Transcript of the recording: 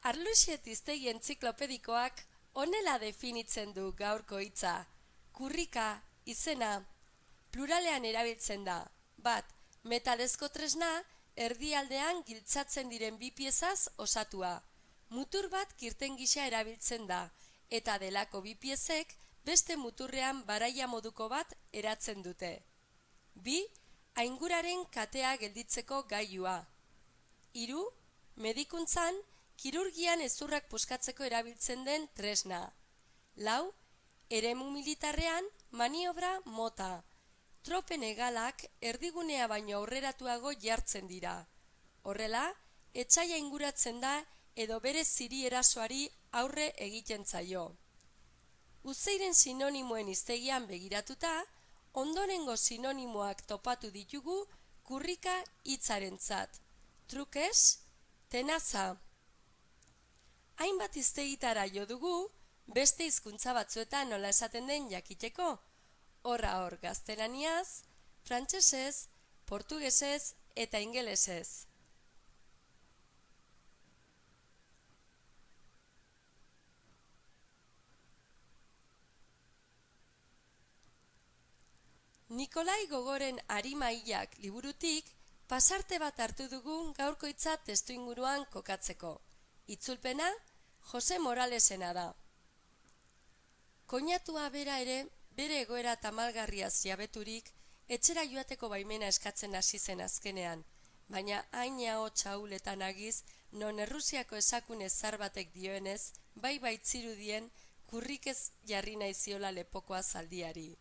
Arluxet hiztegi entziklopedikoak honela definitzen du gaurko hitza. Kurrika, izena, pluralean erabiltzen da. Bat, metalezko tresna, erdialdean giltzatzen diren bi piezaz osatua. Mutur bat kirten gisa erabiltzen da, eta delako bi piezek beste muturrean baraia moduko bat eratzen dute. Bi, ainguraren katea gelditzeko gailua. Hiru, medikuntzan, kirurgian hezurrak puskatzeko erabiltzen den tresna. Lau, eremu militarrean maniobra mota. Tropen hegalak erdigunea baino aurreratuago jartzen dira. Horrela, etsaia inguratzen da edo bere ziri erasoari aurre egiten zaio. Uzeiren sinonimoen hiztegian begiratuta, ondorengo sinonimoak topatu ditugu kurrika hitzarentzat. Trukez, tenaza. Hainbat hiztegitara jo dugu, beste hizkuntza batzuetan nola esaten den jakiteko. Horra hor gaztelaniaz, frantsesez, portugesez eta ingelesez. Nikolai Gogoren Arimailak liburutik pasarte bat hartu dugun gaurko hitza testuinguruan kokatzeko. Itzulpena Jose Moralesena da. Koinatua bera ere, bere egoera tamalgarriaz jabeturik, etxera joateko baimena eskatzen hasi zen azkenean, baina hain ahots ahuletan agiz, non Errusiako esakune zar batek dioenez, bai baitzirudien kurrikez jarri nahi ziola lepokoa zaldiari.